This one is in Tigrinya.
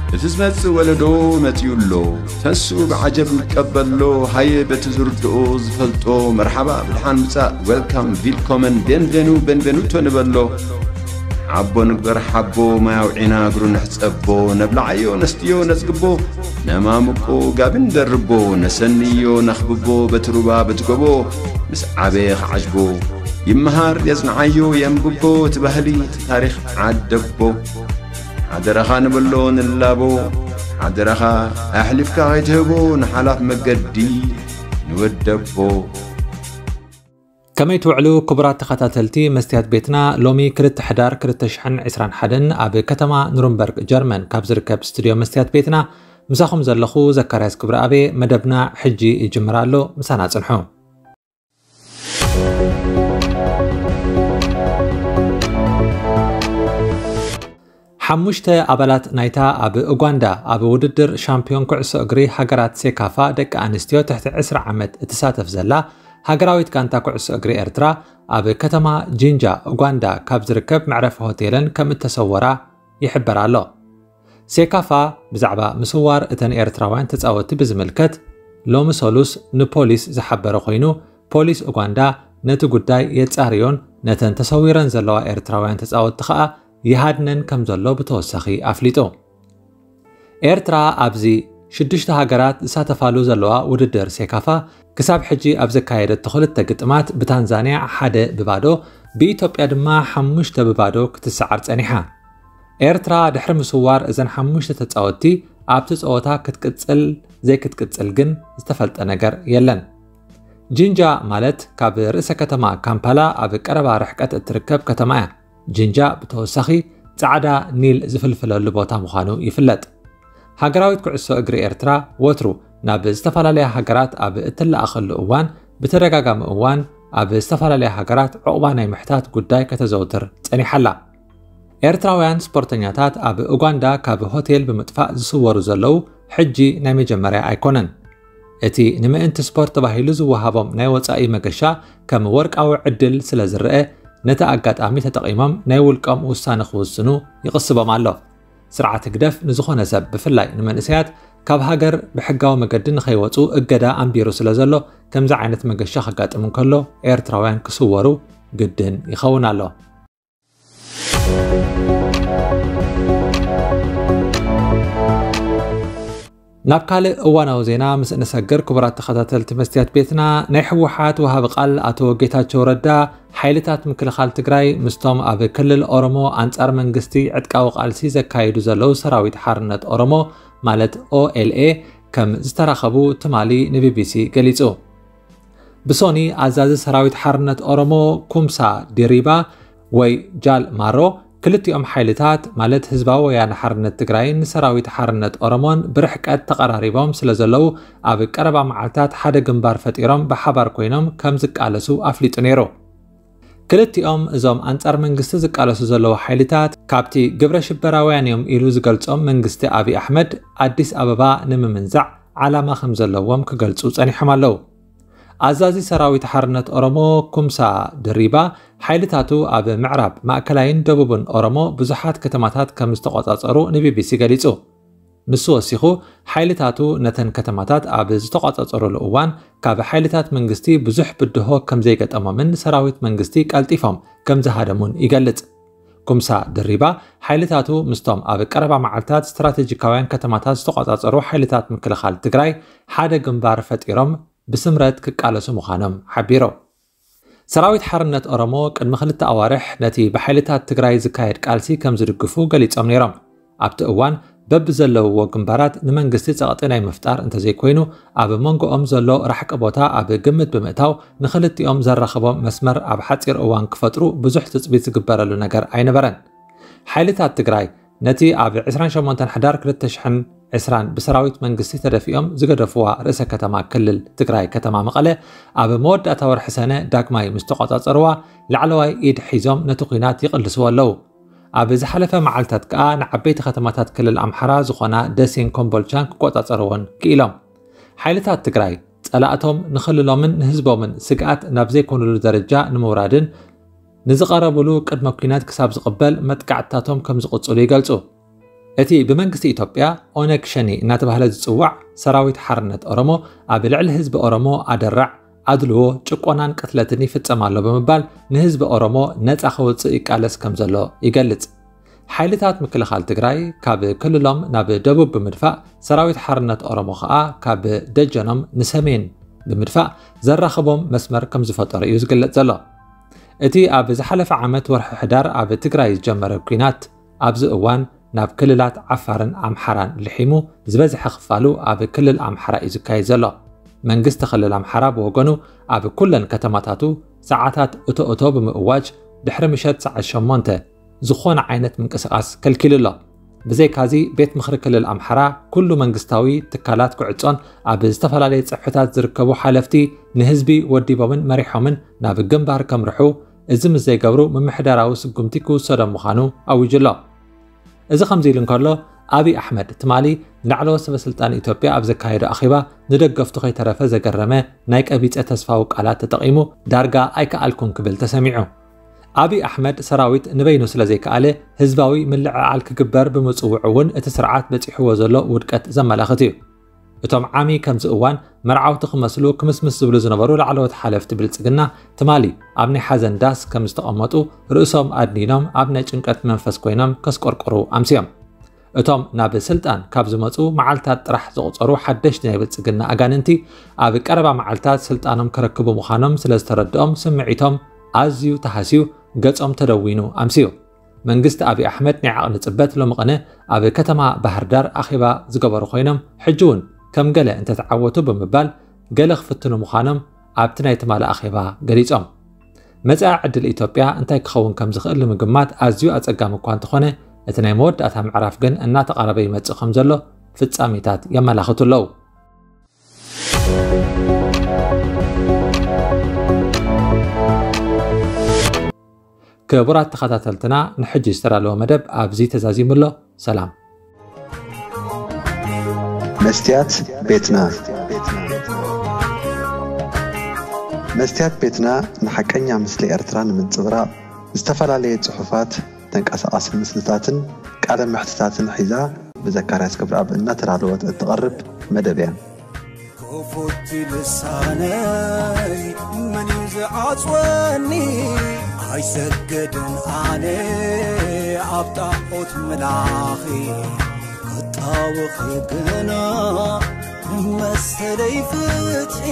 እቲ ዝመጽእ ወለዶ መጺኡ ኣሎ። ተንስኡ ብዓጀብ ንቀበሎ። ሃየ በቲ ዝርድኦ ዝፈልጦ መርሓባ ብድሓን ምጻእ፣ ዌልካም፣ ቪልኮመን፣ ቤንቬኑ፣ ቤንቬኑቶ ንበሎ። ሓቦ ንግበር ሓቦ፣ ማይ ኣውዒና እግሩ ንሕጸቦ። ነብልዓዮ ነስትዮ ነጽግቦ፣ ነማሙቆ ጋቢ ንደርቦ። ነሰንዮ ነኽብቦ በቲ ሩባ በቲ ጎቦ። ምስ ዓበየ ክዓጅቦ፣ ይመሃር የጽንዓዮ የንብቦ። እቲ ባህሊ እቲ ታሪኽ ዓደቦ። ሓደራኻ ንበሎ ንላቦ፣ ሓደራኻ ኣሕሊፍካ ከይትህቦ ንሓላፍ መገዲ ንወደቦ። ከመይ ትውዕሉ ክቡራት ተኸታተልቲ መስትያት ቤትና? ሎሚ ክልተ ሕዳር ክልተ ሽሕን ዕስራን ሓደን ኣብ ከተማ ኑርንበርግ ጀርመን ካብ ዝርከብ ስቱድዮ መስትያት ቤትና ምሳኹም ዘለኹ ዘካርያስ ክብረኣብ። መደብና ሕጂ ይጅምር ኣሎ፣ ምሳና ጽንሑ። ሓሙሽተ ኣባላት ናይታ ኣብ ኡጋንዳ ኣብ ውድድር ሻምፒዮን ኩዕሶ እግሪ ሃገራት ሴካፋ ደቂ ኣንስትዮ ትሕቲ ዕስራ ዓመት እትሳተፍ ዘላ ሃገራዊት ጋንታ ኩዕሶ እግሪ ኤርትራ ኣብ ከተማ ጂንጃ ኡጋንዳ ካብ ዝርከብ መዕረፊ ሆቴለን ከም እተሰወራ ይሕበር ኣሎ። ሴካፋ ብዛዕባ ምስዋር እተን ኤርትራውያን ተጻወትቲ ብዝምልከት ሎሚ ሰሉስ ንፖሊስ ዝሓበረ ኮይኑ፣ ፖሊስ ኡጋንዳ ነቲ ጉዳይ የጻርዮን ነተን ተሰዊረን ዘለዋ ኤርትራውያን ተጻወትቲ ከኣ ይሃድነን ከም ዘሎ ብተወሳኺ ኣፍሊጡ። ኤርትራ ኣብዚ ሽዱሽተ ሃገራት ዝሳተፋሉ ዘለዋ ውድድር ሴካፋ ክሳብ ሕጂ ኣብ ዘካየደቶ ክልተ ግጥማት ብታንዛንያ ሓደ ብባዶ፣ ብኢትዮጵያ ድማ ሓሙሽተ ብባዶ ክትሰዓር ጸኒሓ። ኤርትራ ድሕሪ ምስዋር እዘን ሓሙሽተ ተጻወትቲ ኣብቲ ጸወታ ክትቅጽል ዘይክትቅጽል ግን ዝተፈልጠ ነገር የለን። ጂንጃ ማለት ካብ ርእሰ ከተማ ካምፓላ ኣብ ቀረባ ርሕቀት እትርከብ ከተማ እያ። ጂንጃ ብተወሳኺ ጻዕዳ ኒል ዝፍልፍለሉ ቦታ ምዃኑ ይፍለጥ። ሃገራዊት ኩዕሶ እግሪ ኤርትራ ወትሩ ናብ ዝተፈላለያ ሃገራት ኣብ እትለኣኸሉ እዋን ብተደጋጋሚ እዋን ኣብ ዝተፈላለያ ሃገራት ዕቑባ ናይ ምሕታት ጉዳይ ከተዘውትር ጸኒሓ ኣላ። ኤርትራውያን ስፖርተኛታት ኣብ ኡጋንዳ ካብ ሆቴል ብምጥፋእ ዝስወሩ ዘለዉ ሕጂ ናይ መጀመርያ ኣይኮነን። እቲ ንምእንቲ ስፖርት ተባሂሉ ዝወሃቦም ናይ ወጻኢ መገሻ ከም ወርቃዊ ዕድል ስለ ዝረአ፣ ነቲ ኣጋጣሚ ተጠቒሞም ናይ ውልቆም ውሳነ ክውስኑ ይቕስቦም ኣሎ። ስርዓት ህግደፍ ንዝኾነ ሰብ፣ ብፍላይ ንመንእሰያት፣ ካብ ሃገር ብሕጋዊ መገዲ ንኸይወጹ እገዳ ኣንቢሩ ስለ ዘሎ፣ ከምዚ ዓይነት መገሻ ከጋጥም እንከሎ ኤርትራውያን ክስወሩ ግድን ይኸውን ኣሎ። ናብ ካልእ እዋናዊ ዜና ምስ እንሰግር፣ ክቡራት ተኸታተልቲ መስትያት ቤትና፣ ናይ ህወሓት ወሃቢ ቃል ኣቶ ጌታቸው ረዳ፣ ሓይልታት ምክልኻል ትግራይ ምስቶም ኣብ ክልል ኦሮሞ ኣንጻር መንግስቲ ዕጥቃዊ ቃልሲ ዘካይዱ ዘለዉ ሰራዊት ሓርነት ኦሮሞ ማለት ኦኤልኤ ከም ዝተራኸቡ ትማሊ ንቢቢሲ ገሊጹ። ብሶኒ ኣዛዚ ሰራዊት ሓርነት ኦሮሞ ኩምሳ ዲሪባ ወይ ጃል ማሮ ክልቲኦም ሓይልታት ማለት ህዝባዊ ወያነ ሓርነት ትግራይን ሰራዊት ሓርነት ኦሮሞን ብርሕቀት ተቐራሪቦም ስለ ዘለዉ ኣብ ቀረባ መዓልታት ሓደ ግንባር ፈጢሮም ብሓባር ኮይኖም ከም ዝቃለሱ ኣፍሊጡ ነይሩ። ክልቲኦም እዞም ኣንጻር መንግስቲ ዝቃለሱ ዘለዉ ሓይልታት ካብቲ ግብረ ሽበራውያን እዮም ኢሉ ዝገልጾም መንግስቲ ኣብይ ኣሕመድ ኣዲስ ኣበባ ንምምንዛዕ ዓላማ ከም ዘለዎም ክገልጹ ጸኒሖም ኣለዉ። ኣዛዚ ሰራዊት ሓርነት ኦሮሞ ኩምሳ ድሪባ ሓይልታቱ ኣብ ምዕራብ፣ ማእከላይን ደቡብን ኦሮሞ ብዙሓት ከተማታት ከም ዝተቖጻጸሩ ንቢቢሲ ገሊጹ። ንሱ ወሲኹ፣ ሓይልታቱ ነተን ከተማታት ኣብ ዝተቖጻጸሩሉ እዋን ካብ ሓይልታት መንግስቲ ብዙሕ ብድሆ ከም ዘይገጠሞምን ሰራዊት መንግስቲ ቀልጢፎም ከም ዝሃደሙን ይገልጽ። ኩምሳ ድሪባ ሓይልታቱ ምስቶም ኣብ ቀረባ መዓልታት ስትራቴጂካውያን ከተማታት ዝተቖጻጸሩ ሓይልታት ምክልኻል ትግራይ ሓደ ግንባር ፈጢሮም ብስምረት ክቃለሱ ምዃኖም ሓቢሩ። ሰራዊት ሓርነት ኦሮሞ ቅድሚ ክልተ ኣዋርሕ ነቲ ብሓይልታት ትግራይ ዝካየድ ቃልሲ ከም ዝድግፉ ገሊጾም ነይሮም። ኣብቲ እዋን በብዘለውዎ ግንባራት ንመንግስቲ ጸቕጢ ናይ ምፍጣር እንተዘይኮይኑ፣ ኣብ መንጎኦም ዘሎ ራሕቂ ቦታ ኣብ ግምት ብምእታው ንኽልቲኦም ዘራኽቦም መስመር ኣብ ሓጺር እዋን ክፈጥሩ ብዙሕ ትጽቢት ዝግበረሉ ነገር ኣይነበረን። ሓይልታት ትግራይ ነቲ ኣብ ዕስራን ሸሞንተን ሕዳር ክልተ ሽሕን ዕስራን ብሰራዊት መንግስቲ ተደፊኦም ዝገደፍዋ ርእሰ ከተማ ክልል ትግራይ ከተማ መቐለ ኣብ መወዳእታ ወርሒ ሰነ ዳግማይ ምስ ተቖጻጸርዋ ላዕለዋይ ኢድ ሒዞም ነቲ ኲናት ይቕልስዎ ኣለዉ። ኣብ ዝሓለፈ መዓልታት ከኣ ንዓበይቲ ከተማታት ክልል ኣምሓራ ዝኾና ደሴን ኮምቦልቻን ክቆጻጸርዎን ክኢሎም። ሓይልታት ትግራይ ጸላእቶም ንኽልሎምን ንህዝቦምን ስግኣት ናብ ዘይኮኑሉ ደረጃ ንምውራድን ንዝቐረቡሉ ቅድመ ኲናት ክሳብ ዝቕበል መጥቃዕትታቶም ከም ዝቕጽሉ ይገልጹ። እቲ ብመንግስቲ ኢትዮጵያ ኦነግ ሸኔ እናተባህለ ዝጽዋዕ ሰራዊት ሓርነት ኦሮሞ ኣብ ልዕሊ ህዝቢ ኦሮሞ ኣደራዕ፣ ኣድልዎ፣ ጭቆናን ቅትለትን ይፍጸም ኣሎ ብምባል ንህዝቢ ኦሮሞ ነጻ ከውጽእ ይቃለስ ከም ዘሎ ይገልጽ። ሓይልታት ምክልኻል ትግራይ ካብ ክልሎም ናብ ደቡብ ብምድፋእ፣ ሰራዊት ሓርነት ኦሮሞ ኸኣ ካብ ደጀኖም ንሰሜን ብምድፋእ ዘራኽቦም መስመር ከም ዝፈጠሩ እዩ ዝግለጽ ዘሎ። እቲ ኣብ ዝሓለፈ ዓመት ወርሒ ሕዳር ኣብ ትግራይ ዝጀመረ ኲናት ኣብዚ እዋን ናብ ክልላት ዓፋርን ኣምሓራን ልሒሙ፣ ዝበዝሐ ክፋሉ ኣብ ክልል ኣምሓራ እዩ ዝካየድ ዘሎ። መንግስቲ ክልል ኣምሓራ ብወገኑ ኣብ ኩለን ከተማታቱ ሰዓታት እቶ እቶ ብምእዋጅ ድሕሪ ምሸት ሰዓት ሸሞንተ ዝኾነ ዓይነት ምንቅስቓስ ከልኪሉ ኣሎ። ብዘይካዚ ቤት ምኽሪ ክልል ኣምሓራ ኩሉ መንግስታዊ ትካላት ክዕጾን ኣብ ዝተፈላለየ ጽፍሕታት ዝርከቡ ሓለፍቲ ንህዝቢ ወዲቦምን መሪሖምን ናብ ግንባር ከምርሑ፣ እዚ ምስ ዘይገብሩ ምምሕዳራዊ ስጉምቲ ክውሰዶም ምዃኑ ኣዊጁ ኣሎ። እዚ ከምዚ ኢሉ እንከሎ፣ ኣብይ ኣሕመድ ትማሊ ንላዕለዎት ሰበ ስልጣን ኢትዮጵያ ኣብ ዘካየዶ ኣኼባ ንደገፍቱ ከይተረፈ ዘገረመ ናይ ቀቢጸ ተስፋዊ ቃላት ተጠቒሙ፣ ዳርጋ ኣይከኣልኩን ክብል ተሰሚዑ። ኣብይ ኣሕመድ ሰራዊት ንበይኑ ስለ ዘይከኣለ ህዝባዊ ምልዕዓል ክግበር ብምጽውዑ እውን እቲ ስርዓት በጺሕዎ ዘሎ ውድቀት ዘመላኽት እዩ። እቶም ዓሚ ከምዚ እዋን መርዓውቲ ክመስሉ ክምስምስ ዝብሉ ዝነበሩ ላዕለዎት ሓለፍቲ ብልጽግና ትማሊ ኣብ ናይ ሓዘን ዳስ ከም ዝተቐመጡ ርእሶም ኣድኒኖም ኣብ ናይ ጭንቀት መንፈስ ኮይኖም ከስቆርቆሩ ኣምስዮም። እቶም ናብ ስልጣን ካብ ዝመጹ መዓልታት ጥራሕ ዝቑጸሩ ሓደሽቲ ናይ ብልጽግና ኣጋንንቲ ኣብ ቀረባ መዓልታት ስልጣኖም ክረክቡ ምዃኖም ስለ ዝተረድኦም ስምዒቶም ኣዝዩ ተሃስዩ ገጾም ተደዊኑ ኣምስዩ። መንግስቲ ኣብይ ኣሕመድ ናይ ዓቕሊ ጽበት ሎሚ ቅነ ኣብ ከተማ ባህር ዳር ኣኼባ ዝገበሩ ኮይኖም ሕጂ እውን ከም ገለ እንተተዓወቱ ብምባል ገለ ክፍትኑ ምዃኖም ኣብቲ ናይ ትማሊ ኣኼባ ገሊጾም። መጻኢ ዕድል ኢትዮጵያ እንታይ ክኸውን ከም ዝኽእል ንምግማት ኣዝዩ ኣጸጋሚ እኳ እንተኾነ፣ እቲ ናይ መወዳእታ ምዕራፍ ግን እናተቓረበ ይመጽእ ከም ዘሎ ፍጻሜታት የመላኽቱ ኣለዉ። ክቡራት ተኸታተልትና፣ ንሕጂ ዝተዳለወ መደብ ኣብዚ ተዛዚሙ ኣሎ። ሰላም። መስትያት ቤትና። መስትያት ቤትና ንሓቀኛ ምስሊ ኤርትራ ንምንጽብራቕ ዝተፈላለየ ጽሑፋት፣ ተንቀሳቓሲ ምስልታትን ቃለ መሕትታትን ሒዛ ብዘካርያስ ክብረኣብ እናተዳለወት እትቐርብ መደብ እያ። ክፉት ልሳነይ መን እዩ ዝዓጽወኒ? ኣይሰግድን ኣነ ኣብ ጣዖት ምላኺ ክጣወኺ ግና መሰለይ ፍትሒ